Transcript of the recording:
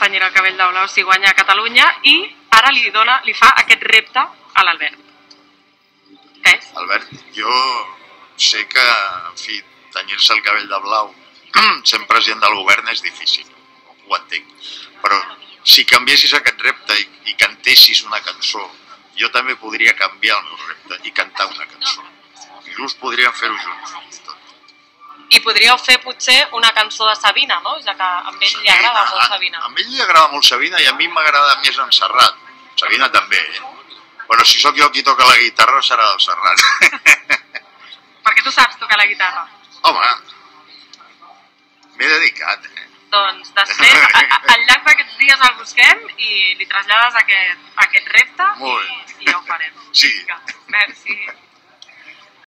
tenyir el cabell de blau si guanya a Catalunya i ara li fa aquest repte a l'Albert. Què és? Albert, jo sé que, en fi, tenyir-se el cabell de blau sent president del govern és difícil, ho entenc, però si canviessis aquest repte i cantessis una cançó, jo també podria canviar el meu repte i cantar una cançó. Inclús podríem fer-ho junts. I podríeu fer potser una cançó de Sabina, no? Ja que a ell li agrada molt Sabina. A ell li agrada molt Sabina i a mi m'agrada més en Serrat. Sabina també, Però si sóc jo qui toca la guitarra serà el Serrat. Perquè tu saps tocar la guitarra. Home, m'he dedicat, Doncs després, al llarg d'aquests dies el busquem i li trasllades aquest repte i ja ho farem. Sí. Merci.